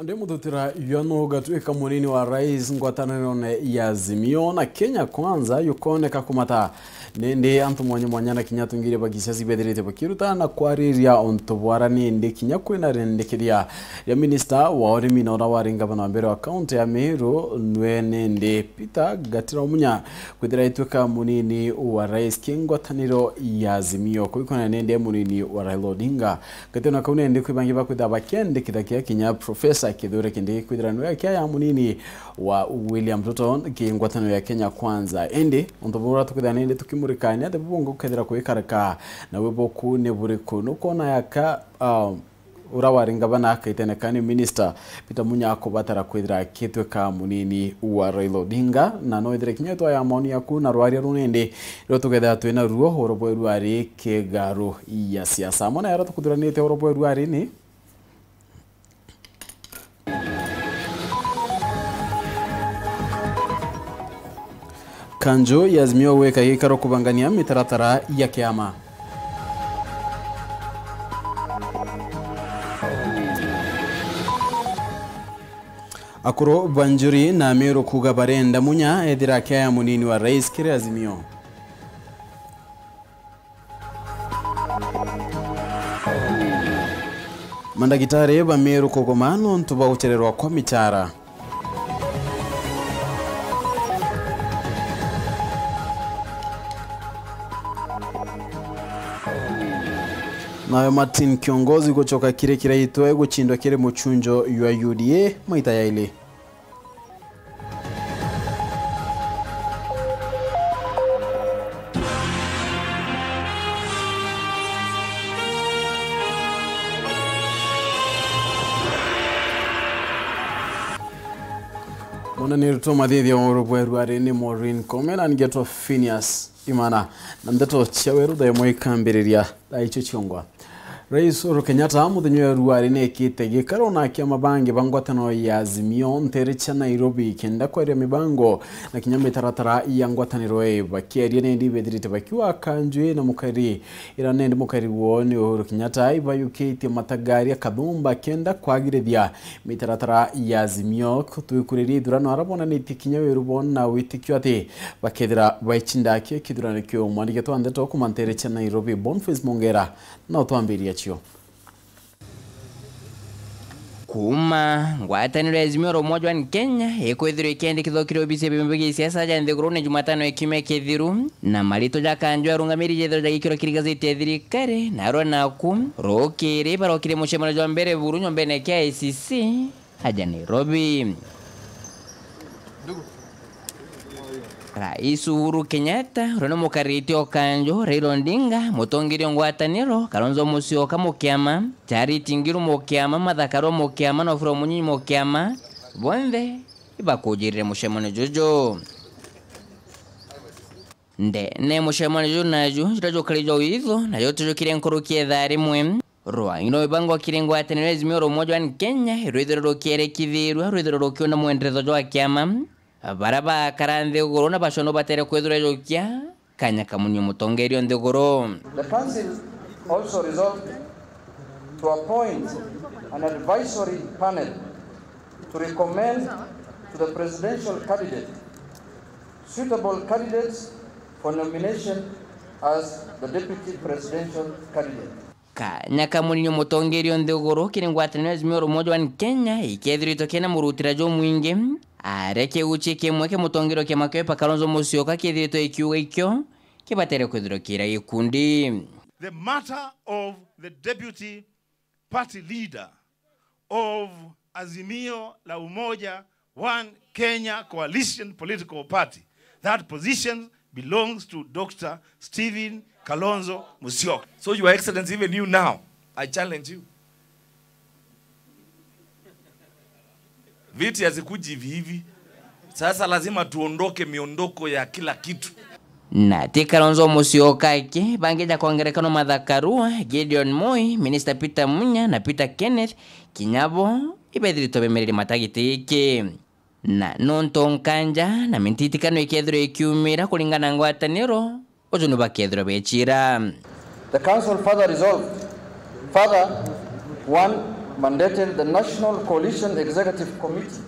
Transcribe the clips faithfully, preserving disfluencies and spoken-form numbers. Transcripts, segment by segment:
Ndi muthutira yua nu ugatuika munini wa rais ngwatanirone ya Azimio na Kenya Kwanza yukoneka kumata. Nindi antu mwanya mwanya na kinya atungiria ba gisiasa ibethirite bakirutana na kwariria untu bwara nindi kinya kwina rendekethia ria minista wa urimi na uria wari ngavana wa mbere wa kaunti ya Meru nwe nindi Peter Gatira Munya kwithira ituika munini wa rais ki ngwataniro ya Azimio kuikona nindi munini wa Raila Odinga. Gatino kau nindi kwi bangi bakwithira bakendekitha kia kinya Professor Kithure Kindiki kwithira niwe kia ya munini wa William Ruto ki ngwataniro ya Kenya Kwanza. Indi untu bura tukwithira nindi tukimurika ni ati bubungu kethira kwikarika na wiboku ni buriku nukwona yaka, um, ura wari ngavana akaiteneka ni minister Peter Munya akubatara kwithira akitwika munini wa Raila Odinga, na no ithire kinya itwa ya maoni yaku na rwaria runindi rio tukethira twina ruo oro bweru ari kigaru ya siasa. Amwe na yara tukuthuranite oro bweru ari ni Kanju ya Azimio gwika gikaro kubangania mitaratara ya kiama. Akuru ba Njuri na Meru kuuga barenda Munya ethira akiaya munini wa rais kiri Azimio. Mandagitari ba Meru kugoma nontu bwa gucererwa kwa michara. Nayo Martin Kiongozi gucoka kiri kiraitwe guchindwa kiri muchunjo jwa U D A maita yaili. Mwana ni rutwa mathithia wa urubweru ari ni Maureen Kome na ngetwa Phineas Imana. Na ndeto cia weru thaa imwe ikambiriria thaa icio ciongwa. Rais Uhuru Kenyatta muthenya wa ruari nekite gikaro na kiama bangi ba ngwataniro ya Azimio ntere cia Nairobi kenda kwaria mibango na kinya mitaratara ya ngwataniro ii. Bakiaria nendi bethirite bakiwa kanjwi na mukari ira nendi mukari woo ni Uhuru Kenyatta ibayukitie matagaria kathumba kenda kwagirithia mitaratara ya Azimio twikuriria ithurano ara bonanitie kinya wiru boo na witikio ati bakethira baichinda ki kithurano kiu. Mwandiki twa ndeto kuma ntere cia Nairobi Boniface Mongera na utwambiria cio. Kuuma ngwataniro ya Azimio la Umoja One Kenya ikwithirwa ikiandikithwa kiri obisi ya biama bia gisiasa ja nthigurune Jumatano ya kiumia kithiru, na marito ja kanju arungamiri jethirwa jagikirwa kiri gazeti ya thirikari, narua naku rukiri barokire mucemanio jwa mbere buru nyombene kia I C C aja Nairobi. Rais Uhuru Kenyatta, uria ni mukarite o kanju, Raila Odinga, mutongeria o ngwataniro, Kalonzo Musyoka mukiama, Charity Ngilu mukiama, Martha Karua mukiama, na Oburu Omunyinyi mukiama, bonthe ibakujirire mucemanio juju. Ndene mucemanio juju naju, juria jukari jwa witho, najo tujukire nkuruki ya ithaa rimwe. Rwang'i rwa mibango kiri ngwataniro ya Azimio la Umoja One Kenya irwithirwa rukierekithirua, rwithirwa rukiona mwenderetho jwa kiama. Baria bakara nthiguru na bacwa no batere kwithirwa jukia kanya kamunio mutongeria o nthiguru. The council also resolved to appoint an advisory panel to recommend to the presidential candidate suitable candidates for nomination as the deputy presidential candidate. Kanya kamunini mutongeria o nthiguru kiri ngwataniro ya Azimio la Umoja One Kenya ikethiritwe kena murutira jumwingi, aria kiuchi kimwe kia mutongeria o kiama kia Wiper Kalonzo Musyoka kithiritwe ikiuga ikio kibatere kwithirwa kira gikundi. The matter of the deputy party leader of Azimio la Umoja One Kenya Coalition Political Party, that position belongs to Doctor Stephen Kalonzo Musyoka. So, Your Excellency, even you now, I challenge you. Viti hazikuji hivi hivi. Sasa lazima tuondoke miondoko ya kila kitu. Na ti Kalonzo Musyoka aki, bangi ja kwa ngerekano Martha Karua, Gideon Moi, Minister Peter Munya na Peter Kenneth, kinya bo ibethiritwe bemereria mata giti giki. Na nontu nkanja na mititikano ikethirwa ikiumira kuringana na ngwataniro, uju ni bakethirwa bechira. The council further resolved, further, one, mandated the National Coalition Executive Committee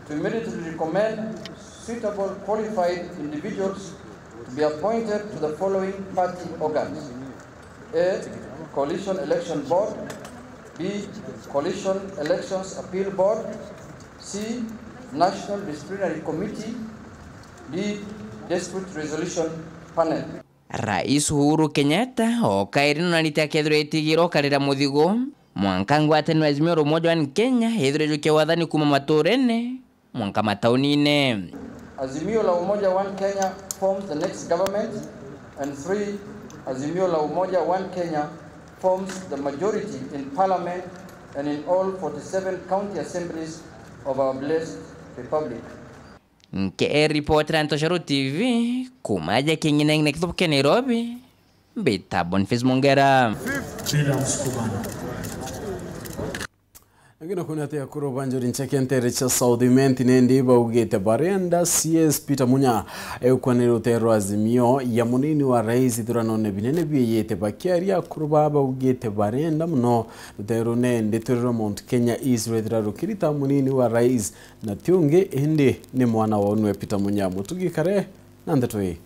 to immediately recommend suitable qualified individuals to be appointed to the following party organs: A, Coalition Election Board; B, Coalition Elections Appeal Board; C, National Disciplinary Committee; D, Dispute Resolution Panel. Rais Uhuru Kenyatta o kairi nonarite akethirwa etigirwo karira muthigo mwanka ngwataniro ya Azimio la Umoja One Kenya ithirwe ijukia wathani kuma maturene mwanka mataunine. Azimio la Umoja One Kenya forms the next government, and three, Azimio la Umoja One Kenya forms the majority in parliament and in all forty-seven county assemblies of our blessed republic. Nke ripotera Ntoshoro T V kuma aja King'ineng'ine kithubu kia Nairobi, mbita Boniface Mongera. Lakini kuna ati akuru ba Njuri Ncheke ntere cia South Imenti nindi baugite barenda C S Peter Munya eukwanire rutero rwa Azimio ya munini wa rais ithuranone binene biiyite. Bakiaria akuru ba baugite barenda muno rutero nindi turi rwa Mount Kenya East rwethira rukirita munini wa rais na ti ungi indi ni mwana wa unwe Peter Munya. Mutugi kare na ndeto ii.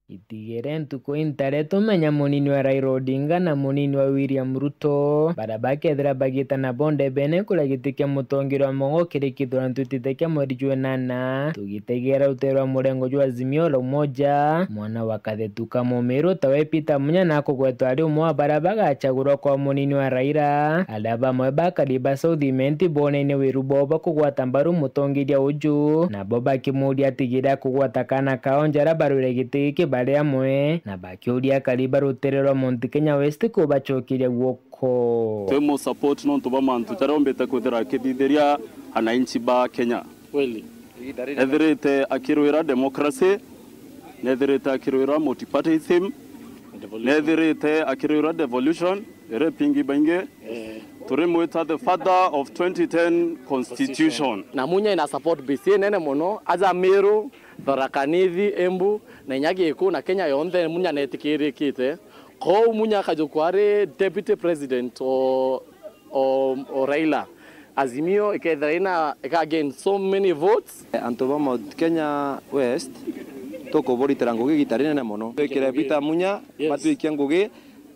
Itigere ntuku intare tumenya munini wa Raila Odinga na munini wa William Ruto, baria bakethira bagitana bo ndebene kuria giti kia mutongeria wa mongo kiri kithurano twitite kia mweri jwa inana, tugitegera rutero rwa murengo jwa Azimio la Umoja, mwana wa Kathetu ka Mumiru tawe Peter Munya na akugwetwa ari umwe wa baria bagachagurwa kwa munini wa Raila, aria bamwe bakari ba South Imenti boneine wiru bwao bwa kugwata mbaru mutongeria uju, nabo bakimuria atigire akugwata kaana kao njara barwire giti giki bari amwe, na bakiuria akari ba rutere rwa Mount Kenya West kubacokeria guoko. Twi mu support nontu bwa mantu jaria ombite kwithira akithithiria ananchi ba Kenya. Kweli. Ethirite akirwira democracy, nethirite akirwira multipartyism, nethirite akirwira devolution, iri pingi baingi. Turimwita the father of twenty ten constitution. Na Munya ina support base inene mono, aja Meru, Tharaka Nithi, Embu, na inya Giku na Kenya yonthe Munya netikirikite. Kou Munya akajukwa ari deputy president o, o, o Raila. Azimio ikethira ina, ika gain so many votes. Antu ba Mount Kenya West tukuburitira ngugi igita rinene mono. Twikire Peter Munya, yes, matwikie ngugi,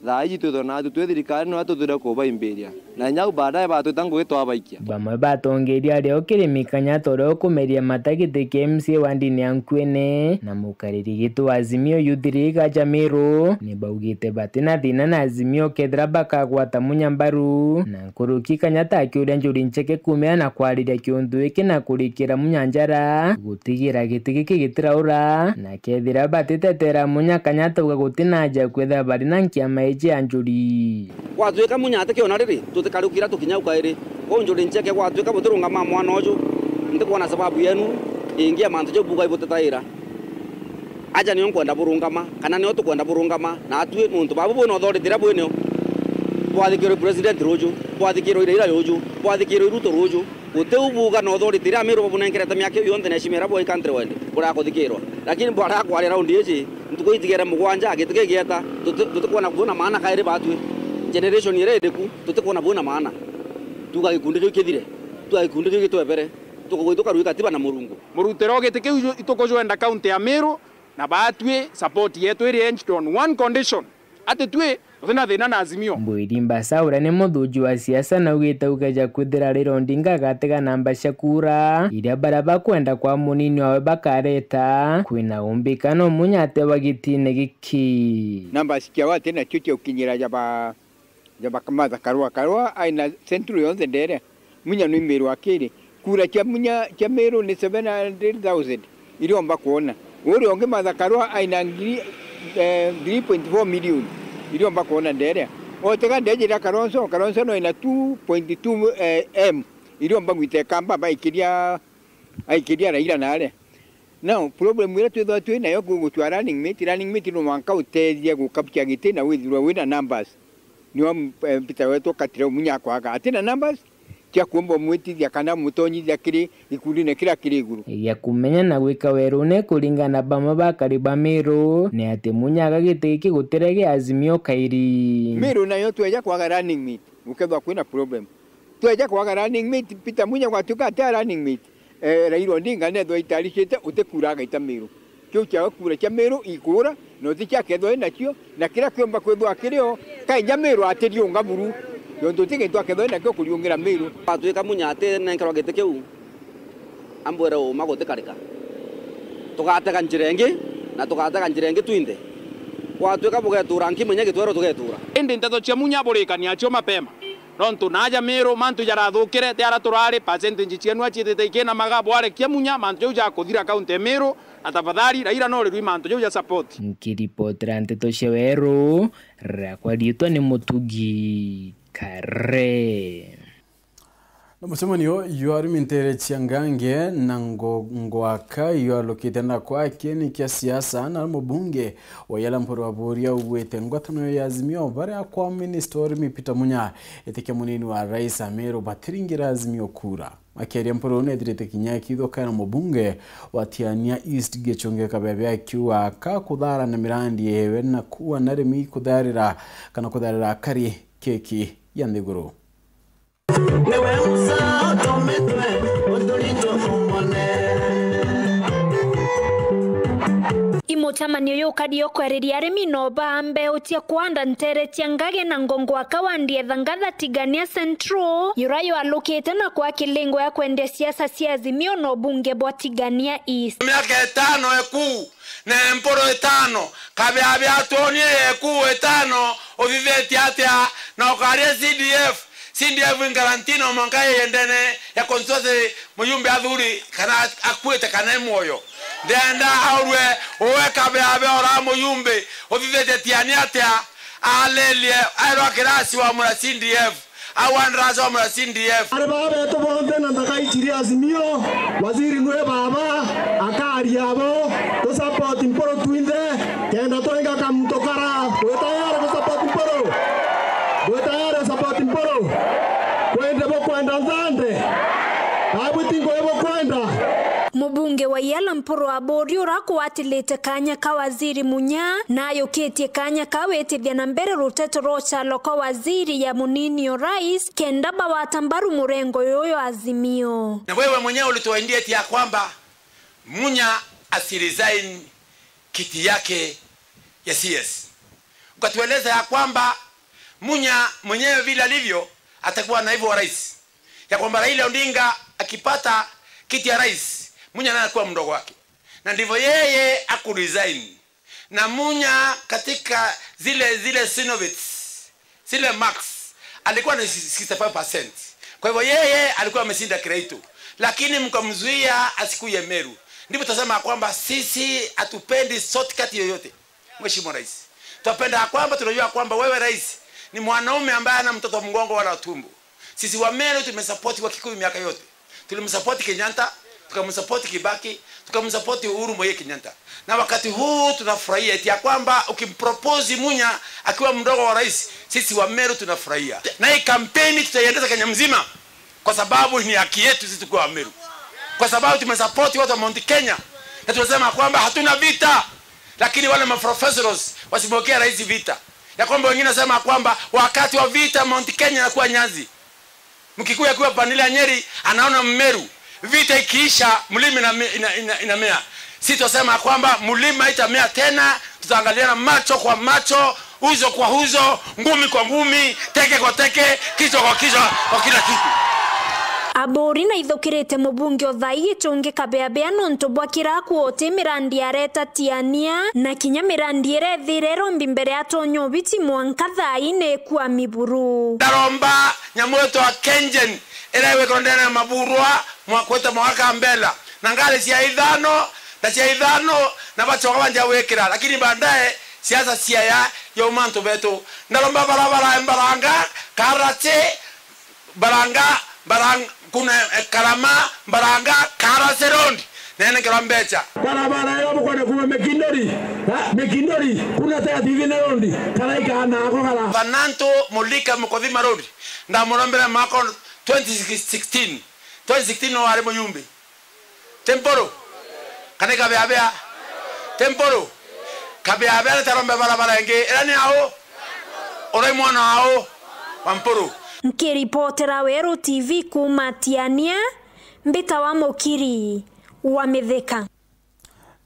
thaa iji twithwe naatu twi thirikari, no tuthire kubaimbiria. Na inya au baadaye batwita ngugi twabaikia. Bamwe batongeria ario kiri mikanya tore ukumeria mata giti kia M C A wa ndini ya Nkuene, na mukariri gitu wa Azimio Youth League aja Meru, ni baugite batina thina na Azimio kethira bakagwata Munya mbaru, na nkuruki Kanyata akiuria Njuri Ncheke kumira na kwariria kiuntu giki na kurikira Munya njara, gutigira giti giki gitiraura, na kethira batitetera Munya Kanyata uga gutina aja kwithira bari na nkiama iji ya Njuri. Gwatwika Munya atikiona riri, tutikarukira tukinya ukairi. Kwou Njuri Ncheke gwatwika butirungama mwana uju, ntikwona sababu yenu ingi ya mantu jau buuga ibutetaira. Aja nio nkwenda burungama, kana nio tukwenda burungama, na atwi nuntu babu bwina authority iria bwinio. Bwathikirwe president ruju, bwathikirwe Raila ruju, bwathikirwe Ruto ruju. Guti u buuga na authority iria Amiru babunenkerete miaka iu yonthe na heshima iria bwai countrywide, burakuthikirwa. Lakini bwarakwaria raundi iji, ntuku itigere mugwanja, giti gigieta, tuti-, tutikwona bwina maana kairi batwi. Generation iria iriku, tutikwona bwina maana. Tuga gikundi kiu kithire, tuga gikundi kiu gitwebere, tukugwithuka rui katiba na Murungu. Murutiro giti kiu ju-, itukujwenda county ya Meru, na batwi support yetu iri hinged on one condition, ati twi tutina thina na Azimio. Mbwiri Mbasa uria ni muthuji wa siasa naugite ugeja kwithira Raila Odinga agatega namba cia kura iria baria bakwenda kwa munini wawe bakareta, kwina umbika no Munya atewa gitine giki. Namba cikiawa ati nacio cia gukinyira ja ba ja ba Martha Karua. Karua aina Central yonthe nderia. Munya ni Meru akiri. Kura cia Munya, cia Meru ni seven hundred thousand iriomba kwona. Uria ungi Martha Karua aina ngiri, eh, three point four million iriomba kwona nderia. Otega ndejira Kalonzo, Kalonzo no ina two point two, eh, M iriomba gwita Ikamba baikiria, aikiria Raila naria. Now, problem iria twithagwa twi nayo ku gutua running mate, running mate no mwanka utethia gukabia giti na withirwe wina numbers. Nio, eh, Peter wetu akatire Munya akwaga atina numbers cia kuomba umwitithia kana umutonyithia kiri gikundine kiria kiri iguru. Gia kumenya na gwika werune kuringana na bamwe bakari ba Meru ni ati Munya aga giti giki gutire gia Azimio kairi. Meru nayo tweja kwaga running mate. Gukethwa kwina problem. Tweja kwaga running mate, Peter Munya gwatuika atia running mate, eh, Raila Odinga nethwa aitaricite, uti kura agaita Meru. Kiu kiawe kura cia Meru ikura, na uti cia kethwa inacio, na kiria kiomba kwithwa kirio, kainja Meru atiriunga buru, nontu uti gintu akethwa inakio kuriungira Meru. Gwatuika Munya atinenkerwa giti kiu, ambwire uma gutikarika. Tugatega njira ingi, na tugatega njira ingi twinthe. Gwatuika bugetura nki Munya gitwero tugetura. Indi nteto cia Munya burikania cio mapema. Nontu naaja Meru, mantu jarathukire, ti ara turari, percentage cienu aciitite ikinamaga, bwarekia Munya, mantu jau jakuthira kaunti ya Meru, na tafadhali, Raila no rirui mantu jau ja support. Nkiripotera nteto cia Weru, rakwa riitwa ni Mutugi Kare. Na mucemanio jwa arimi nteere cia Ngange na Ngo-, Ngwaka jwalukite na kwa kieni kia siasa, na mubunge wa Yala Mpuru Aburi augwite ngwataniro ya Azimio baria kwa minista wa urimi Peter Munya itikia munini wa rais Ameru batiringira Azimio kura. Akiaria Mpuru nethirite kinya akithukana mubunge wa Tiania East Gichunge Kabebe akiuga ka kuthara na mirandi yewe na kuua na arimi kutharira kana kutharira akari keki ya nthiguru. Niwe Musa atometwe, uturito umone. I mucemanio yukari o kwereria arimi no baa mbeu cia kwanda nteere cia Ngage na Ngo Ngwaka wa Ndietha Ngatha Tigania Central, yura yalukite na kwa kilingo ya kwendia siasa cia Azimio na ubunge bwa Tigania East. Miaka itano ekuu, na Mpuru itano, Kabeabe atwonie yeku itano, uthithitie atia, na ukaria C D F, C D F in Galantino mwanka yendene ya constituency muyumbe athuri, kana akuite kana e mwoyo. Ndenda aurwe, uwe Kabeabe ora muyumbe, uthithitie Tiania atia, alelie, airwa kirasi wa mura C D F. Au andracomera C D F. Ari baba betu bonthe na nthaka ici ria Azimio, waziri nwe baba, akari abo, tu support Mpuru twinthe, kenda twenga kamuntu kara. Bwi tayari ku support Mpuru? Bwi tayari ku support Mpuru? Kwende bukwenda nthande? Abwiti ngwe bukwenda? Mubunge wa Yala Mpuru Aburi ura akwatilite kanya ka waziri Munya, na ayukitie kanya ka witithia na mbere ruteto rwa ucalo kwa waziri ya munini o rais, kenda bawata mbaru murengo yuyu Azimio. Na wewe mwenyewe ulituahidi eti ya kwamba Munya asiresign kiti yake ya C S. Ukatueleza ya kwamba Munya mwenyewe vile alivyo atakuwa naibu wa rais, ya kwamba Raila Odinga akipata kiti ya rais, Munya naye anakuwa mdogo wake. Na ndivyo yeye akuresign. Na Munya katika zile, zile synovites, zile marks, alikuwa na sixty-five percent. Kwa hivyo yeye alikuwa ameshinda Kiraitu. Lakini mkamzuia asikuye Meru. Ndipo tutasema kwamba sisi hatupendi shortcut yoyote. Mheshimiwa Rais, twapenda ya kwamba tunajua kwamba wewe rais ni mwanaume ambaye ana mtoto wa mgongo wala tumbo. Sisi wa Meru tumesupport wa Kikuyu miaka yote. Tulimsupport Kenyatta, tukamsupport Kibaki, tukamsupport Uhuru Muigai Kenyatta. Na wakati huu tunafurahia eti ya kwamba ukimpropose Munya akiwa mdogo wa rais, sisi wa Meru tunafurahia. Na hii kampeni tutaiendesha Kenya mzima. Kwa sababu ni haki yetu sisi tukiwa Wameru. Kwa sababu tumesupport watu wa Mount Kenya. Na tunasema kwamba hatuna vita. Lakini wale maprofessionals wasimwekea rais vita. Ya kwamba wengine wanasema kwamba wakati wa vita Mount Kenya inakuwa nyasi. Mkikuyu akiwa pande ile ya Nyeri anaona Mmeru. Vita ikiisha, mlima ina-, ina-, ina-, inamea. Sisi tunasema kwamba mlima itamea tena, tutaangaliana macho kwa macho, uzo kwa uzo, ngumi kwa ngumi, teke kwa teke, kichwa kwa kichwa, kwa kila kitu. Aburi na ithukirite mubunge o thai Gichungi Kabeabea nontu bwa kira kuoti mirandi areta Tiania, na kinya mirandi irethire irombi mbere atonya ubiti mwanka thai ni kwa miburu. Ndaromba nyamu itwa Kengen, iria igwikirwa ndene ya maburwa, mwa-, kwita mwaka Kambela. Na ngari cia ithano, na cia ithano, na bacoka banjia gwikira. Lakini baadaye, siasa ciaya, yauma antu betu. Ndaromba barabara ya Mbaranga, Karate, Mbaranga, Mbarang-, kuna, eh, Karama, Mbaranga, Karate Road. Nenenkerwa mbecha. Barabara iyo bukwenda kuma Mikindori, ha, Mikindori, kuna Tega Tivine Road, karaika nako kara. Fananto Mulika Mukothima Road. Ndamurombera mwaka twenty sixteen. Twenty sixteen no wari muyumbi. Ti Mpuru? Kana i Kabeabea? Ti Mpuru? Kabeabea ni tarombe barabara ingi. Ira ni au? Urai mwana au? Wa Mpuru. Nkiripotera Weru T V kuuma Tiania, mbitawa Mukiri wa Mithika.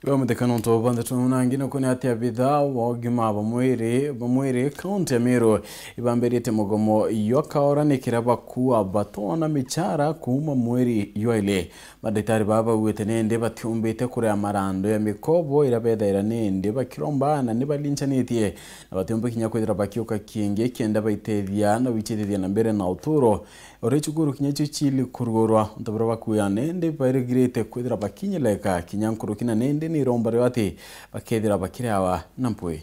Iwe muthekano nto banthe tunangi no kone ati abitha wa ugima ba mwiri, ba mwiri kaunti ya Meru ibambirite mugomo ywa kaora ni kiria bakua batona michara kuuma mweri ywa ili. Madagitari baa baugite nindi batiumbite kuria marando ya mikobo iria bethaira nindi bakiromba na ni balincanitie, na batiumba kinya kwithira bakiuka kingi kenda baitethia na gwicithithia na mbere na uturo. Uri cukuru kinya cio cili kurugurwa, untu buria bakuya nindi bairigirite kwithira bakinyileka kinya nkuruki, na nindi ni iromba rio ati bakethira bakiriawa na mpwi.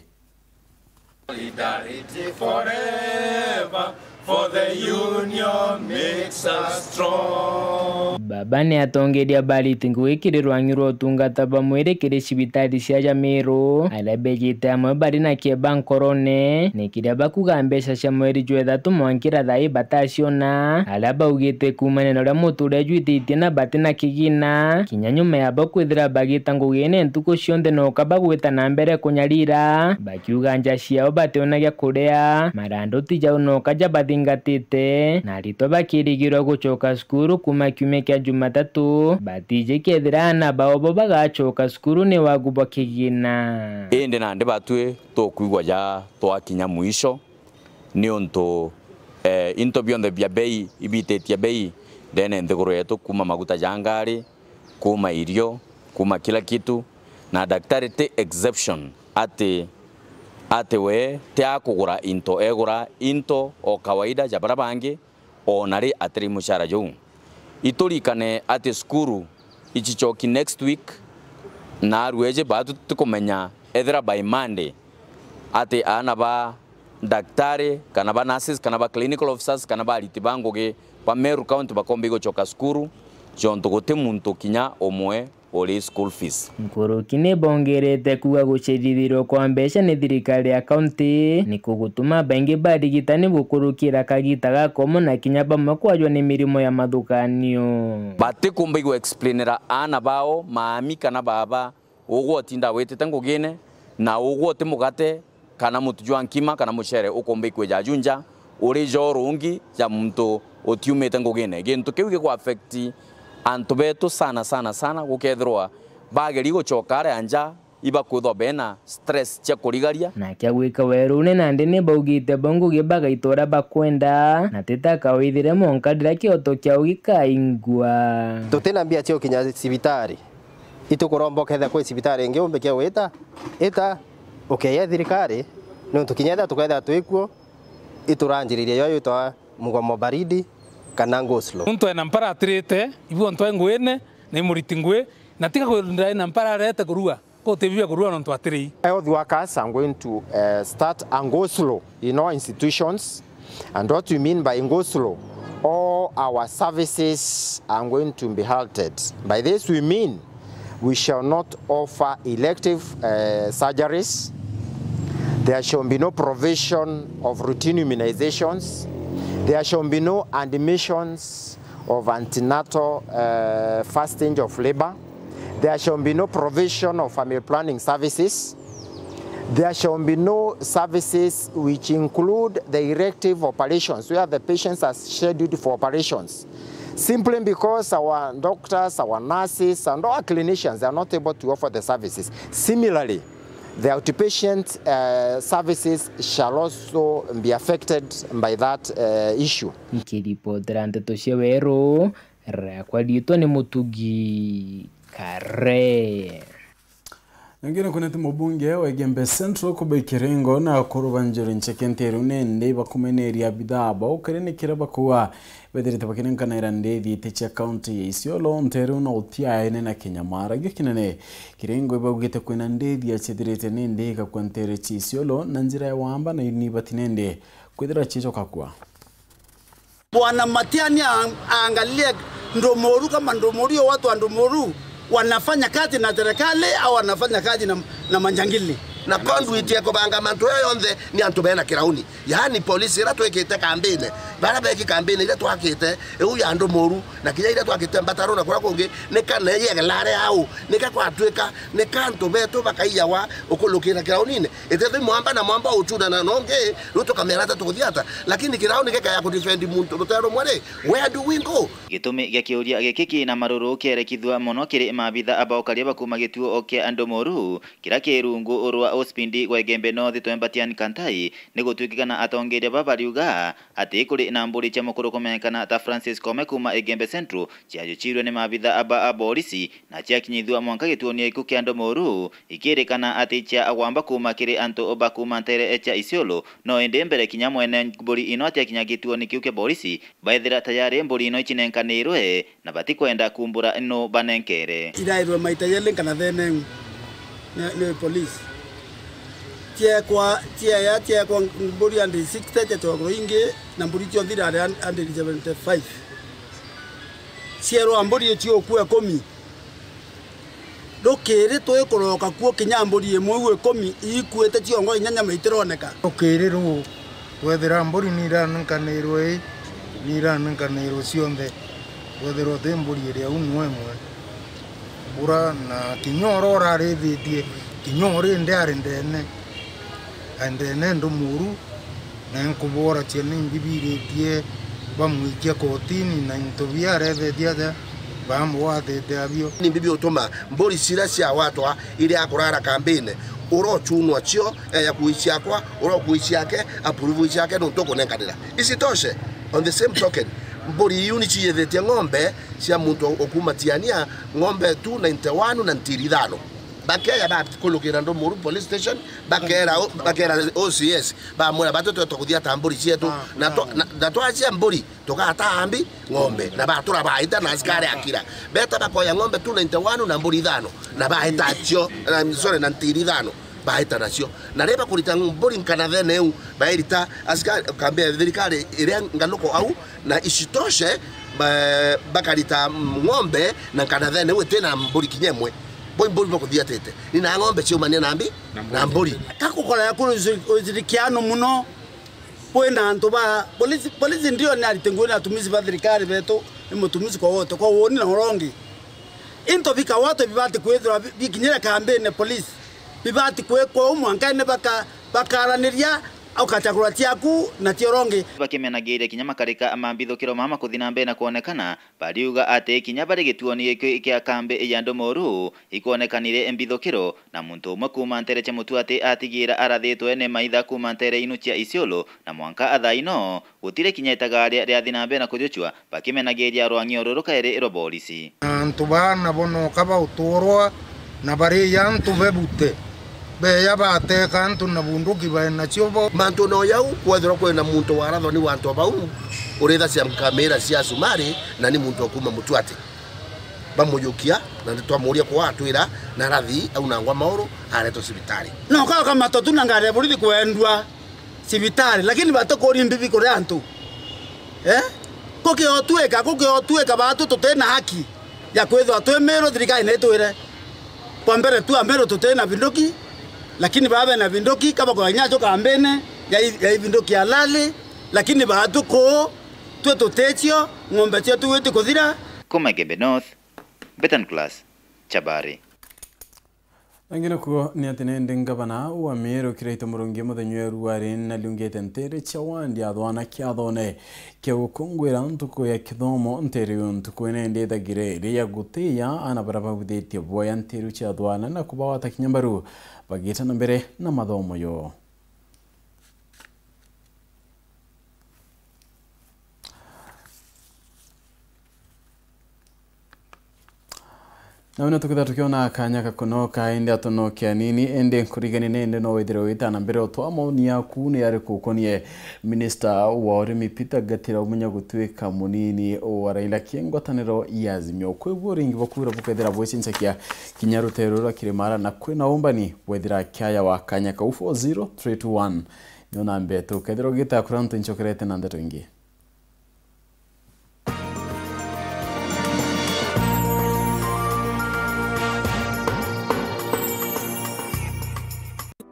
Solidarity forever, for the union makes us strong. Baba ni atongeria bariti ngugi kiri rwang'i rwa utungata bwa mwiri kiri cibitari cia ja Meru, aria bejite amwe bari na kieba nkorone, ni kiria bakuga mbeca cia mweri jwa ithatu mwankira thaa ii bataciona, aria baugite kuumania na uria muturire jwititie na bati na kigina, kinya nyuma yabo kwithira bagita ngugine ntuku cionthe noka bagwita na mbere kunyarira, bakiuga nja ciao bationa gia kuria, marando ti jau noka jabathingatite, na aritwa bakirigirwa gucoka cukuru kuuma kiumia kia Jumatatu, batiji kethira aana bao bo bagacoka cukuru ni wagu bwa kigina. Indi nandi batwi tukwigua ja twakinya mwisho, niuntu, eh, into bionthe bia bei ibititie bei ndene nthiguru yetu, kuuma maguta ja ngari, kuuma irio, kuuma kila kitu, na daktari ti exception ati, ati we ti akugura into, egura into o kawaida ja baria bangi, o na ri atiri muchara juu. Iturikane ati cukuru ichichoki next week, na arueji baa tutikumenya ethira by Monday ati aana ba daktari, kana ba nurses, kana ba clinical officers, kana ba ariti ba ngugi ba Meru County bakomba igucoka cukuru, jontu guti muntu kinya umwe uri school fees. Nkuruki ni bongerete kuuga gucerithirwa kwa mbeca ni thirikari ya kaunti ni kugutuma baingi barigitani bukurukira kagita gakomo na kinya bamwe kwajwa ni mirimo ya mathukanio. Batikumba igu explainera aana bao maami kana baba ugwe utinda witite ngugine, na ugwe uti mugate, kana mutu jwa nkima, kana mucere ukumba ikwija ju nja, uri jo rungi ja muntu utiumite ngugine. Gintu kiu gigu affect antu betu sana, sana, sana, gukethirwa bageri gucoka aria nja, ibakwithwa bena stress cia kurigaria. Na kia gwika werune nandi ni baugite bo ngugi bagaita uria bakwenda, na ti ta kawaithire mwanka riria kioto kiao gikaingwa. Tutina mbia cia gukinya cibitari. Itukuromba ukethia kwi cibitari ingi umbikia gwita, ita, ukeya thirikari, niuntu kinya ethia tukethia twikuo, ituranjiriria yo yitwa mugomo baridi kana go slow. Muntu ena mpara atirite, ibu ontu e nguine, na imuriti ngui, na tiga kwenda ena mpara arete kurua, ko utibibia kurua nontu atiri. Health workers are going to, uh, start and go slow in all institutions. And what we mean by go slow, all our services are going to be halted. By this we mean we shall not offer elective, uh, surgeries. There shall be no provision of routine immunizations. There shall be no admissions of antenatal, uh, first stage of labor. There shall be no provision of family planning services. There shall be no services which include the elective operations, where the patients are scheduled for operations, simply because our doctors, our nurses, and our clinicians are not able to offer the services. Similarly, the outpatient, uh, services shall also be affected by that, uh, issue. Nkiripotera nteto cia Weru, riakwa riitwa ni Mutugi Kare. Ningine kunete mubunge wa Igembe Central Kubai Kirengo na akuru ba Njuri Ncheke nteru nende bakumeneria abithaa bao kiri ni kiria bakuuga bethirite bakinenkanaira ndithi iti cia kaunti ya Isiolo nteru na utiaene na kinyamara gio kinene. Kirengo ibaugite kwina ndithi ya cithirite nindi igakua nteru cia Isiolo na njira ya wamba na inibati nindi kwithira ciicoka kua. Bwana Matiang'i a-, aangalie Ndumuru kama Ndumuru, hiyo watu wa Ndumuru wanafanya kazi na serikali au wanafanya kazi na, na majangili. Na conduit ya kubanga mantu ya yonthe ni antu bena kirauni. Yaani polisi ira twikite kambine, bara beki kambine ira twakite, iu ya andu moru, na kinya ira twakite mbataro na kuria kungi, ni kana yegelare au, ni ka kwatwika, ni ka antu betu bakaiyawa ukulukira kiraunine. Itethwi mwamba na mwamba uchunana na ungi, riu tukamera ata tukuthia ata? Lakini kirauni gikaya kudefend muntu rutere rumwe ri, where do we go? Gitumi gia kiuria giki kina maruru kierekithua mono kiri maabitha ba ukaria ba kuuma gituo kia andu moru, kira ki rungu rwa Ospindi gwa Igembe North Twembatian Kantai, ni gutwikikana atongeria baba bariuga ati kuri na mburi cia mukuru kumenyekana ta Francis Kome kuuma Igembe Central ciajuchirwe ni maabitha ba a borisi na ciakinyithua mwanka gituoni iku kia andu moru, ikirikana ati cia agwamba kuuma kiri antu ba kuuma ntere cia Isiolo, no indi mbere kinya mwene mburi ino atiakinya gituoni kiu kia borisi, baethira tayari mburi ino icinenkanirwe na batikwenda kumbura nu banenkere. Irairwe maita yeli nkanathene ni, ni police. Ciekwa, cieya, ciekwa mburi hundred sixty, cietwagwa ingi, na mburi cionthe irari hundred seventy-five. Cierwa mburi iciukua ikumi. Rukiri twikuroka kuo kinya mburi imwe iu ikumi iikuite ciongo inya nyama itironeka. Rukiri ruu, twethira mburi niranenkanirwe ii, niranenkanirwe cionthe, twethirwa ti mburi iria uu nwe imwe. Bura na kinya uria urarithitie, kinya uri ndi ari ndene, ari ndene ndu muru, na nkubworacia ni mbibiritie bamwikia kotini na into bia arethetie aja bamwatite abio. Ni mbibi utuma mburi cira cia watwa iria akurara kambine, urochunwa cio, eh, ya kuicia akwa, urokui ciake, approve ciake, nuntu ukunenkanira. Isitoshe, on the same token, mburi iu ni ciyithitie ng'ombe cia muntu ukuma Tiania, ng'ombe two ninety-one na ntiri ithano. Bakeya bakulukira Ndomoru Police Station, bakera, bakera O C S, bamwira, "Batu twetwa kuthia ta mburi cietu, ah, na twa-, ah, na, na twacia mburi, tugataa mbi ng'ombe." Na batura baita na askari akira. Beta bakoya ng'ombe two ninety-one na mburi ithano, na baita cio, na, sorry, na ntiri ithano, baita nacio. Na riria bakurita mburi nkanathene iu, bairita askari, kambi ya thirikari iria nganuko au, na isitoshe, ba-, bakarita ng'ombe na nkanathene iu itina mburi kinya imwe. Bo imburi bakuthiatite. Ni na ng'ombe ciumania na mbi, na mburi. Kakukora ya kuru ushirikiano muno. Kwina antu ba polisi, polisi ndio ni arite nguo ni atumishi ba thirikari betu, ni mutumishi kwa wote, kwa woni na urongi. Into bika wote bibati kwithirwa bi-, bikinyire kambine polisi. Bibati kwikwa u mwanka ni baka-, bakaraniria ukachagura ciaku na cia urongi. Bakimenagiria kinya makarika ma mbithukiro mama kuthi na mbere na kwonekana, bariuga ati kinya bari gituoni giki kia kambi ya Ndomoru, ikwonekanire mbithukiro, na muntu umwe kuuma ntere cia Mutuati atigira arathitwe ni maitha kuuma ntere inu cia Isiolo, na mwanka athaa ino, gutire kinya itagaria riathi na mbere na kujuchwa, bakimenagiria rwang'io ruru kairi rwa borisi. Antu baa nabo noka bauturwa, na bari antu bebute. Beya bateka antu na bunduki bae nacio bo. Mantu no jau, kwethirwa kwina muntu warathwa ni wantu bau, urithacia nkamira cia cumari, na ni muntu wa kuuma Mutuati. Bamujukia, na nitwamuria kwa atwira, na arathi, aunangwa mauru, aretwa cibitari. No, ka ukamatwa tu na ngari ya borithi kwendua cibitari, lakini batikuri mbibi kuri antu. Eh? Kukiotwika, kukiotwika batu tutina haki ya kwithirwa twi Miru, thirikari na itwire. Kwa mbere tu, a Miru tutina binduki, lakini baa bena binduki, kaba kwa nyacho kambene, ya i-, ya ibinduki halali, lakini batu kuu, twi tuticio, ng'ombe cietu gwiti kuthira. Kuma Igembe North, Betan Class, Chabari. Angi nakuo ni ati nindi ngavana wa Miru Kiraitu Murungi muthenya wa ruari nariungite ntere cia wandi athwana kiathone kia gukunguira ntuku ya kithomo. Ntere iyo ntuku ine ndithagire iria ya gutiya ana bara babuthitie boya ntere cia athwana na kubawata kinya mbaru bagita na mbere na mathomo yo. Na wina tukitha tukiona kanya gakunoka, indi atunoke anini, indi nkurigani nindi no withire wita na mbere utwa maoni yaku ni ariku ukonie minista wa urimi Peter Gatira Umunya gutuika munini wa Raila ki ngwataniro ya Azimio. Kwi buo ringi bwa kwira bukethira bwicincakia kinya rutere rura kirimara na kwina umbani bwethira kiaya wa kanya kau four zero three two one. Nyo na mbetu, kethira ugita kura ntu nchokerete na ndeto ingi.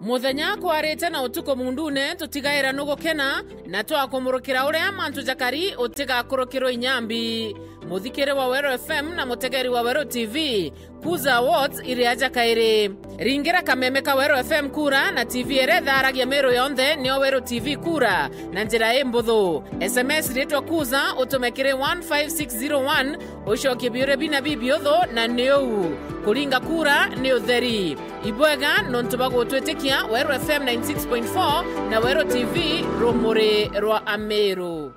Muthenya kwarite na utuku mundune, tutigaira nugukena, na twakumurukira uria mantu jakari utigakurukirwe inyambi. Muthikiri wa Weru F M na mutegeri wa Weru T V, Kuza Awards iri aja kairi. Ringira kameme ka Weru F M kura na T V iria itharagia Meru yonthe nio Weru T V kura na njira imbuthu. S M S ritwa Kuza utume kiri one five six zero one, ucokie biuria bina bibiuthu na ni uu. Kuringa kura ni utheri. Ibwega nontu bwa gutwitikia. Weru F M ninety six point four na Weru T V, rumuri rwa Ameru.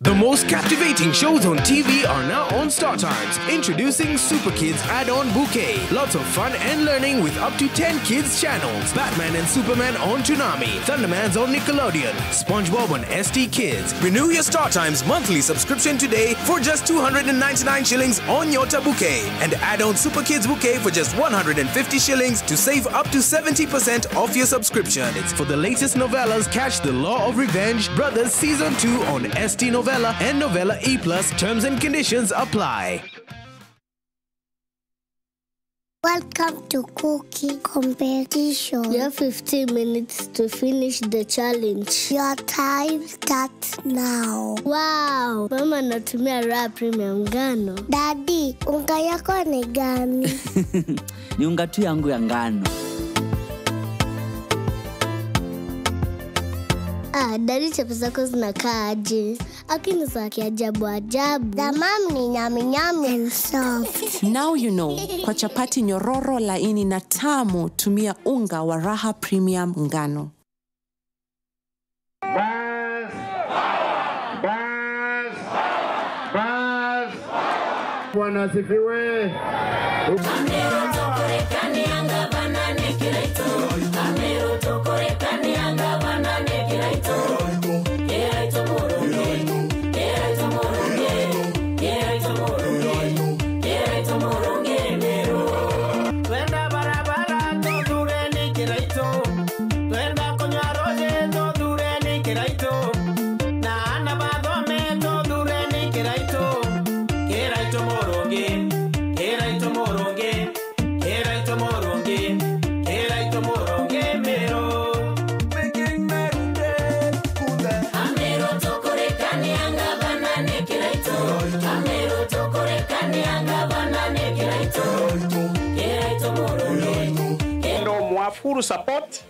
The most captivating shows on T V are now on Star Times. Introducing Super Kids Add-on Bouquet. Lots of fun and learning with up to ten kids channels. Batman and Superman on Toonami. Thundermans on Nickelodeon. SpongeBob on S T Kids. Renew your Star Times monthly subscription today for just two hundred and ninety-nine shillings on Nyota Bouquet. And add on Super Kids Bouquet for just one hundred and fifty shillings to save up to seventy percent off your subscription. It's for the latest novellas, catch The Law of Revenge, Brothers Season two on S T Novella and Novella E plus. Terms and conditions apply. Welcome to cooking competition. You have fifteen minutes to finish the challenge. Your time starts now. Wow, mama anatumia Raha Premium ngano. Daddy, unga yako ni gani? Ni unga tu yangu ya ngano. Ah, daddy, chapati zako zinakaa aje? Lakini za kiajabu ajabu. Za mam ni nyami nyami and soft. Now you know, kwa chapati nyororo, laini na tamu, tumia unga wa Raha Premium ngano. Bas! Bas! Bas! Bwana asifiwe. Twenda barabara, tuthureni Kiraitu. Twenda kunywa ruuji, tuthureni Kiraitu. Na aana bathome, tuthureni Kiraitu. Kiraitu murungi, Kiraitu murungi, Kiraitu murungi, Kiraitu murungi Meru. Making Meru great again. Ameru tukurikania ngavana ni Kiraitu. Ameru tukurikania ngavana ni Kiraitu. Kiraitu murungi. Ndo mwa full support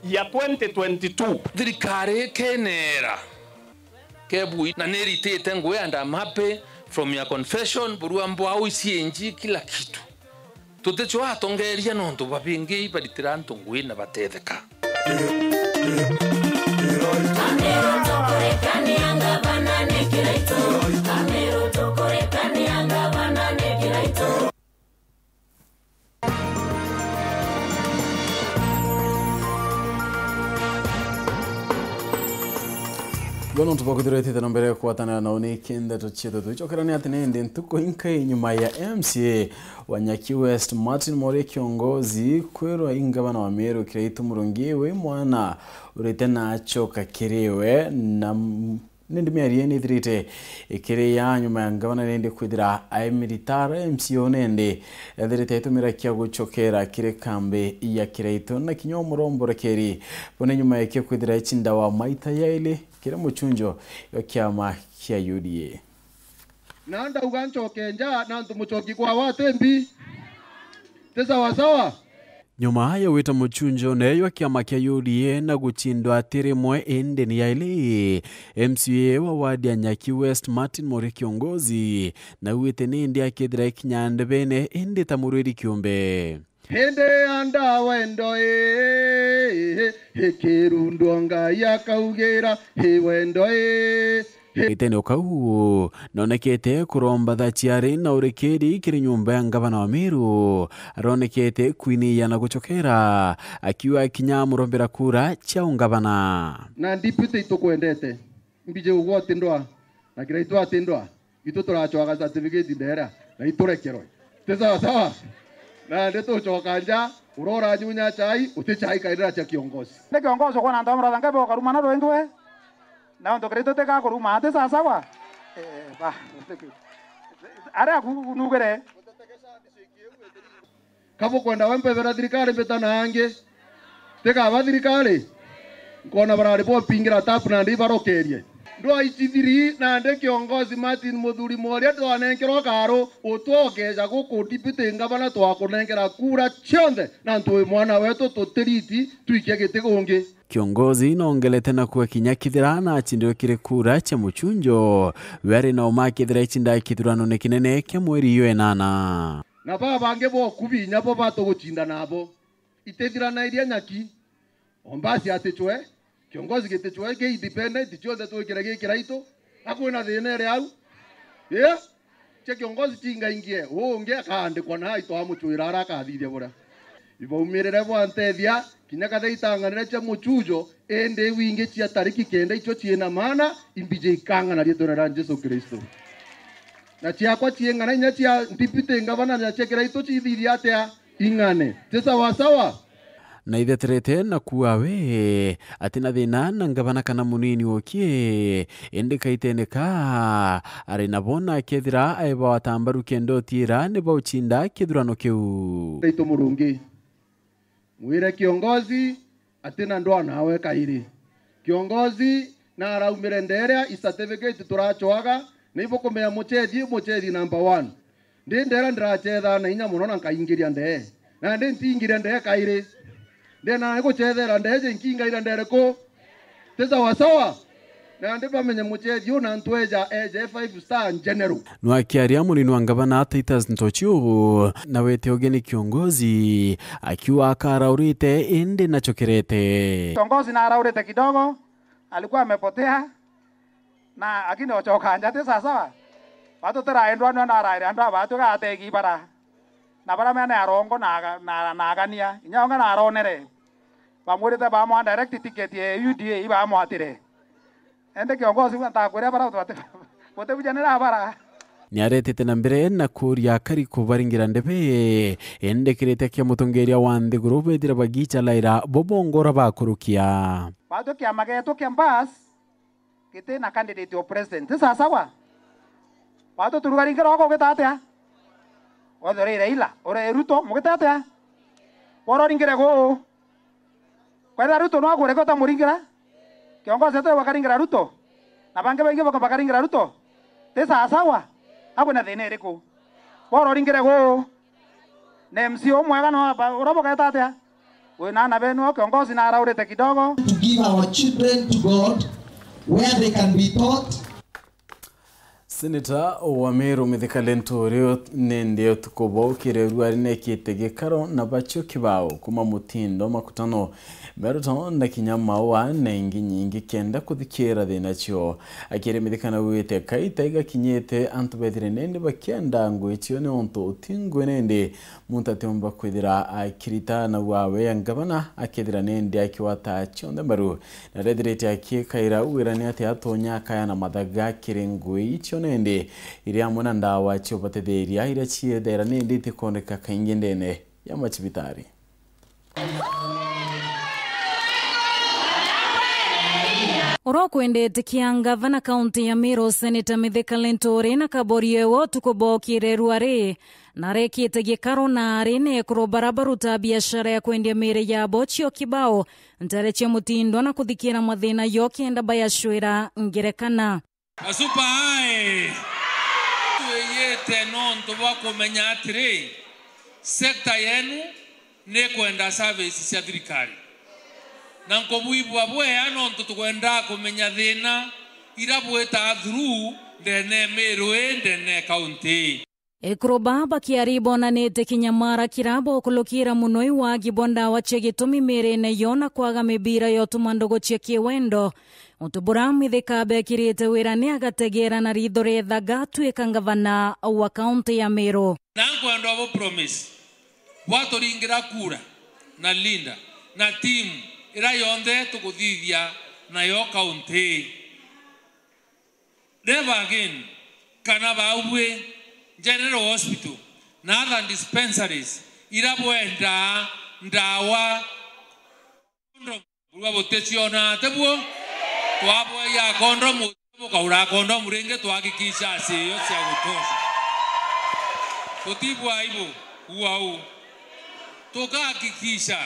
ya twenty twenty-two. Thirikari ikenera kebui na niritite ngui and I'm happy from your confession, burua mbwau, C N G, kila kitu. Tuticwa atongeria nontu babingi ibaritira antu ngui na batetheka. Ameru tukurikania ngavana ni Kiraitu. Ameru tukurikania ngavana ni Kiraitu. Bono ntubakwithirwa itite na mbere kwatanira nao ni kindeto cietu. Twicokerania ati ni indi ntuku inkai nyuma ya M C A wa Nyaki West, Martin Mori Kiongozi, kwirwa i ngavana wa Meru Kiraitu Murungi wi mwana urite na acoka kiri we na m-, nindi miario ii nithirite ikiri ya nyuma ya ngavana nindi kwithira aimitara M C A o nindi ethirite aitumira kia gucokera kiri kambi ya Kiraitu na kinya umuromborekeri. Bone nyuma ya kio kwithira icinda wa maita yaili kiri mucunjo wa kiama kia U D A. Na ndauga ncoke nja, na antu mucoki kwa watembi. Ti sawa sawa? Nyuma ya gwita mucunjo neyo kiama kia U D A na gucindwa ati rimwe indi ni yaili, M C A wa ward ya Nyaki West Martin Mori Kiongozi, na wite nindi akethira ikinya ndebene indi ta murwiri kiumbe. Hindi anda wendo ii, ikirundwo Ngai akaugira, i wendo ii. Ritene o kau, nonekete kuromba thaciari na urikiri kiri nyumba ya ngavana wa Meru. Aronekete kwiniya na gucokera, akiuga kinya amurombera kura cia ungavana. Na deputy itukwendete, mbije ugwe ati ndwa, na Kiraitu ati ndwa. Itu turacwaga certificate ndera, na iturekerwe. Ti sawa sawa? Nandi tucoka nja, urora nyunya chai, uti chai kairira cia kiongozi. Ni kiongozi ukwona antu amurathanga bo karuma na rwendwe. Na untu Kiraitu tika kuruma, ti sawa sawa? Eh, ba, aria aku nugire. Ka bukwenda we mpebera thirikari mbita na angi? Tikaba thirikari? Nkona barari bompingira tapu nandi ibarokerie. Ndwaichithiri nandi kiongozi Martin Muthuri Mworia twanenkerwa karu, utwokeja guku deputy ngavana twakunenkera kura cionthe, na ntwi mwana wetu tutiriti twikie giti gungi. Kiongozi nongelete na kuga kinya kethira nacindirwe kiri kura cia muchunjo, we ari na uma kethira icinda kithuranone kinene kia mweri yo enana. Na baba bangi bokubi inya bo batugucinda nabo. Itithiranairie nyaki. Ombasi atichwe, kiongozi gitichwe ki independent, cionthe twikire gi kiraitu. Akwina thina iri au? Ii? Cia kiongozi cingaingie, uu ungi akaandikwa na aitwa amuchwira aria akathithia buria. Ibaumirire bwantethia, kinya kathe itang'anire cia muchujo, indi iu ingi cia tariki kenda icio ciina maana, imbiji ikang'ana riitwene ria Jesu Kristo. Na ciakwa ciing'ana inya cia deputy ngavana na cia kiraitu cithithia atia? Ing'ane. Ti sawa sawa? Na itheterete na kuuga we, ati na thina na ngavana kana munini wokie, indi kaitene ka, ari nabo na kethira aeba watambaru kenda utiira ni baucinda kithurano kiu. Taitu Murungi, mwire kiongozi ati na ndwanawe kairi. Kiongozi na araumire nderia i certificate turachwaga, ni bukumenya muchethi, muchethi number one. Ndi ndera ndirachethaa na inya mono na nkaingiria ndee. Na ndi ntiingiria ndee kairi. Ndi na guchethera ndee je nkingaira ndee riku? Ti sawa sawa? Na ndi bamenye muchethi u na ntweja eje five star general. Nwakiaria munini wa ngavana Titus Ntochu, na wete ugeni kiongozi, akiuga akaraurite indi nachokerete. Kiongozi na araurite kidogo, alikuwa amepotea. Na lakini ochoka nja ti sawa sawa. Batu tiraendwa nwa na araire andu aba tugategi bara. Na bara mene arongo na aga-, na, na agania. Inya onga na aronere. Bamwirite bamwa direct ticket ya U D A ibamwatire. Ende kiongozi wa ntakwire bara batu bate-, butebujanira bara. Niaretete na mbere na kuuria akari kubaringira ndebe, indi kirite kia mutongeria wa nthiguru bethire bagicha laira bo bongora bakurukia. Batu kiama getu kia Mbas, giti na candidate o president. Ti sawa sawa? Batu turugaringire wako ugita atia? Wethire ira ila, ure Ruto, mugita atia? Wororingire guu. Kwethira Ruto no akure ko tamuringira? Kiongozi ete bakaringira Ruto? Na bangi baingi bako bakaringira Ruto? Ti sawa sawa? Akwina thina iriku? Wororingire guu. Na M C A umwega no aba-, ura bugeta atia? Wina ana benu o kiongozi na araurite kidogo. To give our children to God, where they can be taught. Seneta wa Meru Mithika Linturi nindi utuku bwa ukire ruari nekite gikaro na bacio kibao kuma mutindo makutano, meruto na kinya maua na ingi nyingi kenda kuthikira thina cio. Akiri Mithika naugite kaita igakinyite antu bethire nindi bakienda ngui cio niuntu uti ngui nindi muntu atiumba kwithira akirita na wawe ya ngavana akethira nindi akiwata cionthe mbaru. Na rethirite akikaira wira ni ati atonya akaya na mathaga kiri ngui icio nindi iri amwe na ndawa cio batethiria iria ciethera nindi itikuoneka kaingi ndene ya macibitari. Uria ukwendete kia ngavana kaunti ya Meru, Seneta Mithika Linturi na kaborie we utuku bokire ruari, na arekite gikaro na ari na ekuru bara baruta biashara ya kwendia miri yabo cio kibao, ntere cia mutindo na kuthikira mathina yo kenda bayacwira ngerekana. Gasupa ae! Twiyite nontu bwa kumenya atiri, sekta yenu ni kwenda service cia thirikari. Na nkubwibua bwea nontu tukwenda kumenya thina ira bwitaa through ndene Meru ii, ndene kaunti ii. Ekuru baa bakiari bonanite kinyamara kira bokulukira muno iwagi bwa ndawa cia gitumi mirine yo na kwaga mibira ya utuma ndugu cia kiwendo. Untu bura Mithika bekirite wira ni agategera na ritho riethaga atwika ngavana wa kaunti ya Meru. Na nkwenda bo promise, bwaturingira kura na Linda na team ira yonthe tukuthithia nayo kaunti ii. Never again kana baubwi General Hospital na other dispensaries ira bwendaa ndawa, condom, burua buticiona, tibuo? Twabwea condom, bukaura condom ringi, twahakikisha acio cia gutosha. Tutibwa aibu, ua u. Tukahakikisha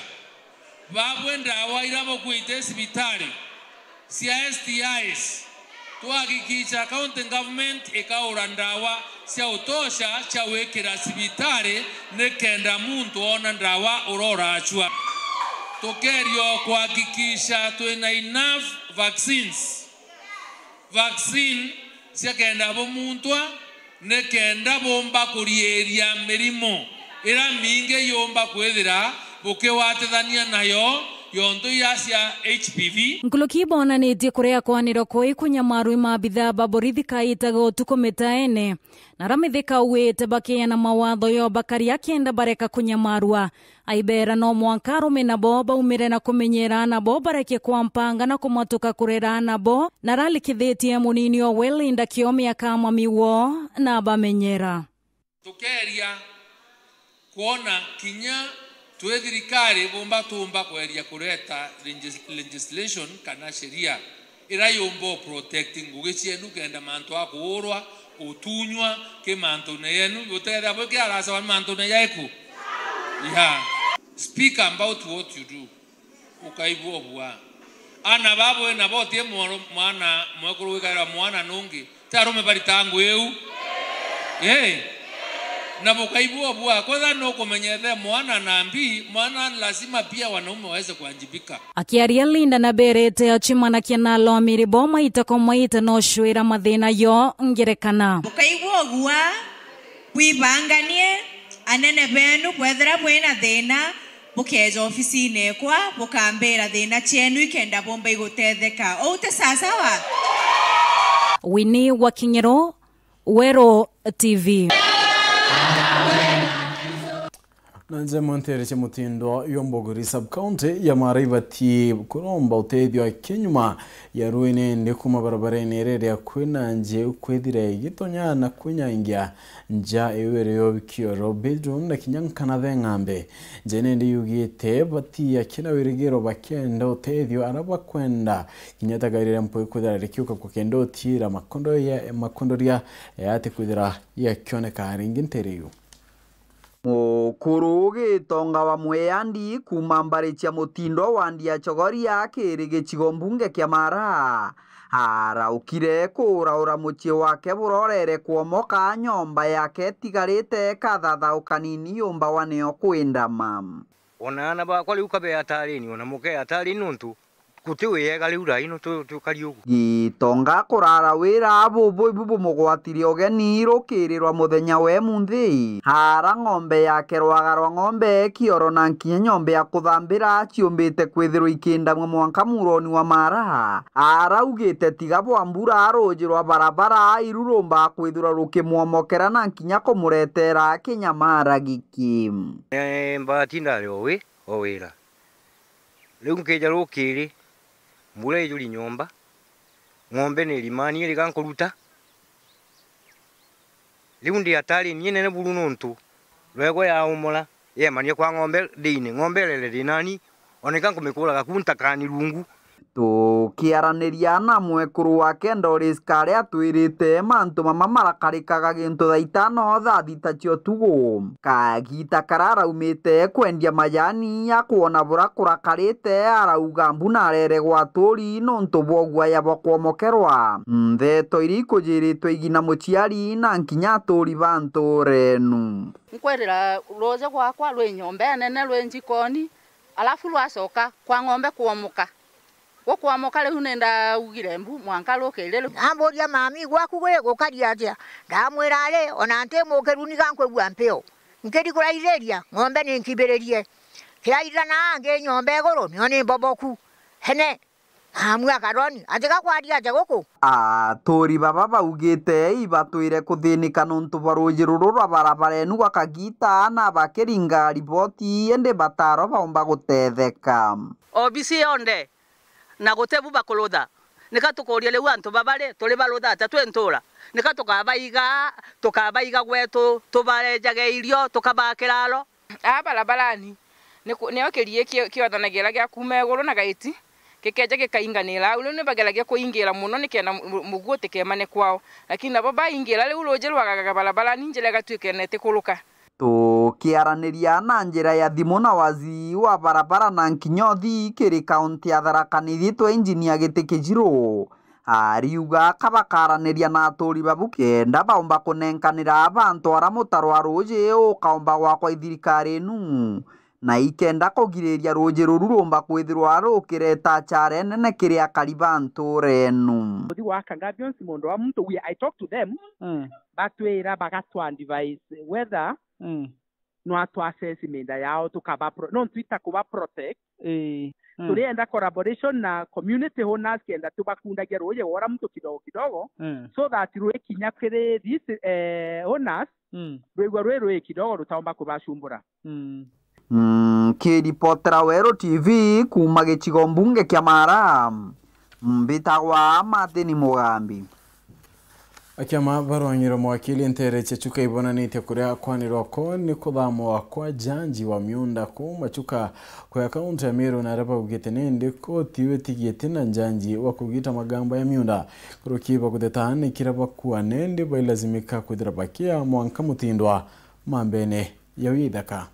babwe ndawa ira bukwite cibitari cia S T Is, twahakikisha county government ikaura ndawa cia utosha cia gwikira cibitari, nikenda muntu oona ndawa uroracua. Tukeeria o kuhakikisha twina enough vaccines, vaccine cia kenda bumuntwa, nikenda bumba kuriiria mirimo ira mingi yumba kwithira bukigwatithania nayo, yontu iria cia H P V. Nkuruki ibonanitie kuria kwanirwa kwi kunyamarua i maabithaa ba borithi kaitaga utuku mitaene, na aria mithika ugwite bakiana mawatho yo bakaria kenda bareka kunyamarua. Aibera no mwanka arume nabo baumire na kumenyera nabo bareke kwa mpanga na kumatuka kurera nabo, na aralikithitie munini o we Linda Kiome akamami wo na abamenyera. Tukeeria kwona kinya twi thirikari bumba tumba kweria kureta legis-, legislation kana sheria ira yumba u protect ngugi cienu kenda mantu a kuurwa, utunywa ki mantune yenu, uteethira bwi kiaracawa ni mantune jaiku? Yeah. Speak about what you do. Ukaigua ubua. Ana babo nabo ti mwana mwekuru wikaira mwana nungi. Ti arume barita ngui iu? Ii. Na bukaigua ubua. Kwetha nukumenya ethe mwana na mbi, mwana lazima pia wanaume waweze kuwajibika. Akiaria Linda naberete acimanakia na alomiri bo maita kwa maita no cwira mathina yo ngerekana. Bukaigua ubua, bwibanganie, anene benu bwethira bwina thina, bukeeja ofisine ekwa, bukambira thina cienu ikenda bumba igutetheka. Ou ti sasawa? Winnie wa Kinyero, Weru T V. Na nja mwantere cia mutindo yo Mbogori sub county ya Mara ibati kuromba utethio akinyuma ya ruine ndi kuma barabarene iria kwina nji kwithira igitonya na kwinyangia nja iwere yo bikioro bedroom na kinya nkana the ng'ambe. Nja nindi yugite bati akina wirigiro bakenda utethio ara bakwenda kinya tagarira mpwi kwithira rikiuka kukenda utira makondo ya makondoria yati kwithira yakioneka ringi ntere yu. Mukuru Gitonga wa Mweandi kuuma mbari cia Mutindo wa Ndia Chogoria kiri gicigo mbunge kia Mara, araukire kuuraura mucii wake burorere kwomoka, nyomba yake itigarite kathathau kanini yumbawa nio kwindama. Ona aana bakwa riu kabe atarini, ona muke atarini nontu guti wiyega riu raino tu-, tukari ugu. Gitonga kurara wira bubu ibu bumugwatire ugeni rukiri rwa muthenya we munthi. Ara ng'ombe yake rwaga rwa ng'ombe kioro na nkinya nyombe ya kuthambira ciumbite kwithirwa ikindamwa mwanka muroni wa Mara. Araugite tiga bwa mbura ruuji rwa barabara iru rumba kwithirwa rukimwomokera na nkinya kumuretera kinyamara giki. Ni mbati ndari o wi, o wira. Riu nkija rukiri, mbura ijuri nyomba, ng'ombe ni irimani iriga nkuruta. Riu ndi atari ni nene buru nontu rwego yaumura, yemanie kwa ng'ombe ndiine, ng'ombe irere rinani, oneka nkumikuraga ku ntakani rungu. Tukiaraniria na mwekuru wake Doris Kare atwirite mantu mama marakarikaga gintu thaa itano thaa thita cia utugu. Kagita kara araumite kwendia majani ya kwona bura kurakarite, arauga mbu narere gwa aturi nontu bwa uguaya bwa kwomokerwa. Ntheto iria ikujiritwe igina muciari na nkinya aturi ba nturenu. Nkwirira ruuji gwakwa rwi nyomba inene rwi njikoni, alafu rwacoka kwa ng'ombe kwomoka. Gukwomoka riu ni ndaugire mbu mwanka rukiri riu. Namburia, "Mami, gwaku gwi gukari atia?" Ndamwira, "Ari, ona nti mukiru niga nkwigua mpio. Nkiri kuraithiria, ng'ombe ni nkibiririe. Kiraithana angi nyomba iguru, nio ni mboboku. Hene, amua karoni, atiga kwaria atia guku?" Aturi baba baugite ibatwire kuthinika nontu bwa ruuji ruru rwa barabara enu gwa kagita na bakiringa riboti indi bataro baumba gutetheka. Obisi yonthe na guti bu bakurutha. Nika tukuuria riu antu baba ri, turi barutha atia twi ntura? Nika tukabaiga, tukabaiga gwetu, tubarejage irio, tukabaa kiraro? Aa barabarani, ni ku-, nio kirii ki-, kiothanagira gia kuuma iguru na gaiti, gikeja gikainganira au. Riu ni bageragia kuingira mono nikenda mu-, mu-, muguo utikemane kwao. Lakini nabo baingira, riu ruuji rwagagaga barabarani, njira igatuika na itikuruka. Tukiaraniria na njira ya thimu na waziri wa barabara na nkinya uthii kiri kaunti ya Tharaka Nithi, twa Engineer Giti Kijiru, ariuga ka bakaraniria na aturi babu kenda baumba kunenkanira bantu ara mutaro wa ruuji ukaumba gwakwa i thirikari inu, na ikenda kugiriria ruuji ruru rumba kwithirwa rukireta achara enene kiri akari ba ntuura enu. Kuthi gwaka Gabions, mundu wa muntu, we, I talk to them, Mm. batwira, bagatwa advise whether Mm. no atwa assess minda yao, tukaba pro-, no twita kuba protect. Ii. Mm. Turienda collaboration na community owners kenda tubakundagia ruuji gwora muntu kidogo kidogo, Mm. so that rwikinya kiri these, eh, owners, Mm. rwigua rwi rwi kidogo rutaumba kubacumbura. Mm. Mm, kiripotera Weru T V kuuma gicigo mbunge kia Mara, mbitagwa Martin Mugambi. Akiama barwang'iro mwakili nteere cia Chuka ibonanitie kuria kwanirwa ko ni kuthamwa kwa njanji wa miunda kuuma Chuka kuya kaunti ya Meru, na aria baugite nindi koti iwe tigite na njanji wa kugita magamba ya miunda. Kuruki baguteta ni kiria bakua nindi bailazimika kwithira bakia mwanka mutindwa mambene ya withaka.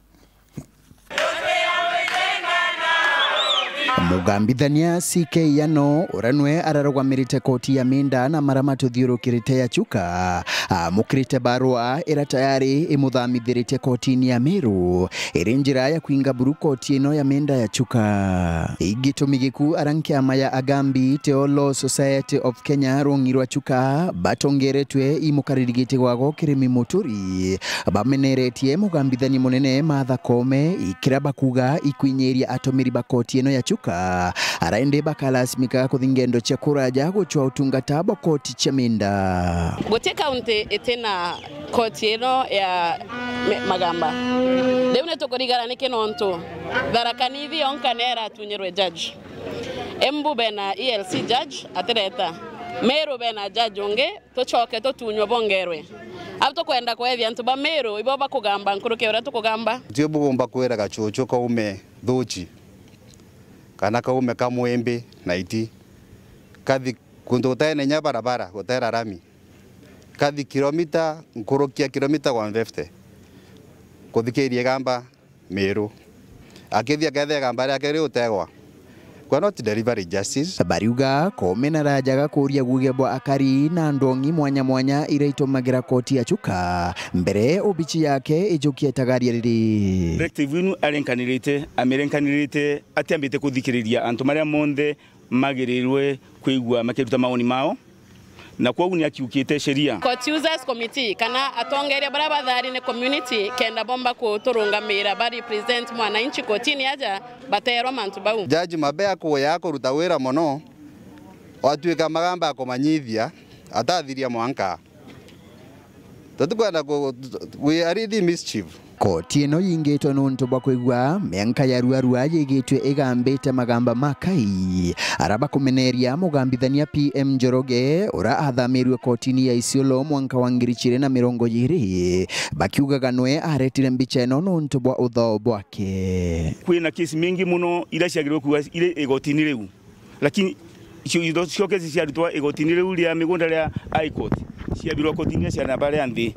Mugambithania C K Yano, uria nwe ararugamirite koti ya minda na mara matuthiurukirite ya Chuka, amukirite barua ira tayari imuthamithiritie kotini ya Meru, iri njira ya kwinga buru koti ino ya minda ya Chuka. Igitumi giku ara nkiama ya Agambi Teolo Society of Kenya rung'i rwa Chuka batongeretwe imukariri giti gwago Kirimi Muturi, bameneretie mugambithania munene Martha Koome, ikira bakuga ikwinyiria atumiri ba koti ino ya Chuka, ara indi bakalasimika kuthi ngendo cia kuraja gucwa utungata bwa koti cia minda. Guti kaunti itina koti ino ya mi-, magamba. Riu ni tukurigara niki nontu Tharaka Nithi yonka ni iratunyirwe judge. Embu bena E L C judge atireta. Meru bena judge ungi, tucoke tutunywe bongerwe. Au tukwenda kwethia antu ba Meru, ibo bakugamba nkuruki uria tukugamba. Tio bugomba kwira gacucu kaume thuci, kana kaume ka mwimbi na iti. Kathi kuntu gutene nya barabara, gutera rami. Kathi kilomita, nkuruki ya kilomita one fifty. Kuthikiria igamba Meru. Akithia ketha igamba riake riutegwa. We are not delivering justice. Bariuga Koome narajaga kuria guge bwa akari na ndongi mwanya mwanya iria itumagira koti ya Chuka mbere obici yake ijukie itagaria riri. Directive inu arenkanirite, amirenkanirite atiambite kuthikiriria antu maria monthe magirirwe kwigua makiruta maoni mao, na kwogu ni akiukite sheria. Court Users Committee kana atongeria baria bathari ni community kenda bomba kuturungamira ba represent mwananchi kotini aja baterwa mantu bau. Judge Mabea kuya kuruta wira mono, watwika magamba akumanyithia atathiria mwanka. Tutikwenda ku-, we are in mischief. Koti ino yingitwe nuntu bwa kwigua mianka ya ruarua yigitwe igambite magamba ma kai, ara bakumeneria mugambithania P M Njoroge, ura athamirwe kotini ya Isiolo mwanka wa ngiri ciiri na mirongo iiri, bakiugaga nwe aretire mbicha ino nuntu bwa uthao bwake. Kwina kesi mingi muno ira ciagirwe kuwa iri igotini riu. Lakini icio, icio, icio kesi ciarutwa igotini riu ria migunda ria High Court, ciabirwa kotini cia namba ria nthi,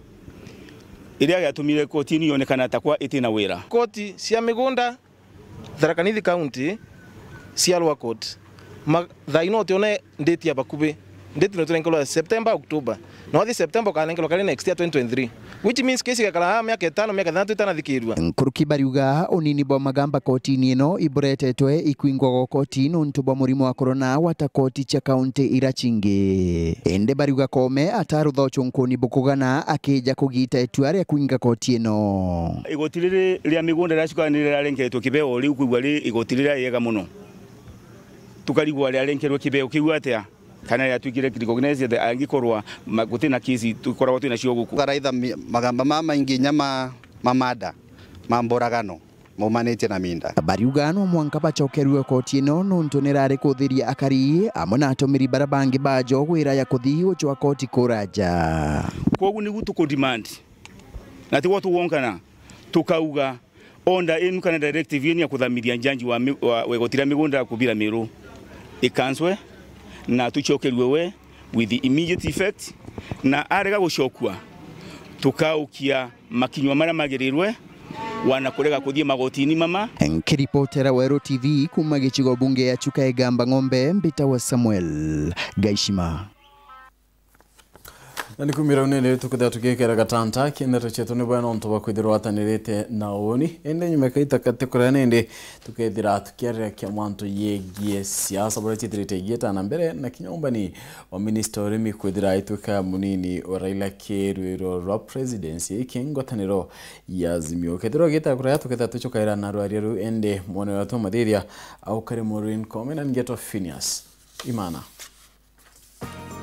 iria yatumire kotini yonekana ta kwa itina wira. Koti cia migunda Tharaka Nithi County cia Lower Court, ma-, thaa ino utione ndeti ya bakubi. Ndeti no turenkerwa September, October. Na wathi September ukanenkerwa kari next year twenty twenty-three. Which means kesi igakara aa miaka itano, miaka ithantatu itanathikirua. Nkuruki bariuga unini bwa magamba kotini ino iburetetwe ikwingwa gwa koti nuntu bwa murimo wa corona wata koti cia kaunti ira cingi. Indi bariuga Koome atarutha ucunkuni bukugana akija kugita itua ria kwinga koti ino. Igoti riri ria migunda riracuka ni rirarengetwe kibeo riu kwigua ri igoti riria riega muno. Tukarigwa riarenkerwe kibeo kiu atia? Kana riatwikire recognize that angikorwa ma-, guti na kesi tukoragwa twina cio guku. Karaitha mi-, magamba mama maingi inya ma, ma mada, ma mboragano, maumanitie na minda. Bariuga no mwanka bacokerue koti ino nuntu nirari kuthiria akari amwe na atumiri bara bangi bajo gwira ya kuthi gucwa koti kuraja. Kwogu nigu tukudemand, na tigwo tugwonkana, tukauga, Order inu kana directive inu ya kuthamithia njanji wa mi-, wa, wa igoti ria migunda ya kubira Meru ikanswe na tucokerue we with immediate effect, na arega gucokua, Tukaukia makinywa maria magirirwe wana kurega kuthii magotini mama. Nkiripotera Weru T V kuma gicigo bunge ya Chuka Igamba Ng'ombe, mbitawa Samuel Gaishima. Na ni kumira uni ni tukithira tugikira gatanta ki ndeto cietu ni bwega nontu bwa kwithirwa watanirite na uni. Indi nyuma kaita kati kuria nindi tukethira tukiariria kia mantu yegie siasa buria ciithirite igieta na mbere na kinya umbani wa minista urimi kwithira aitwika munini wa Raila kirwiro rwa presidency iki ngwataniro ya Azimio. Kethirwa gita kuria tukethira tucokaira na rwaria ruu indi mwone wa tumathithia au kari Maureen Koome na ngeto Phineas Imana.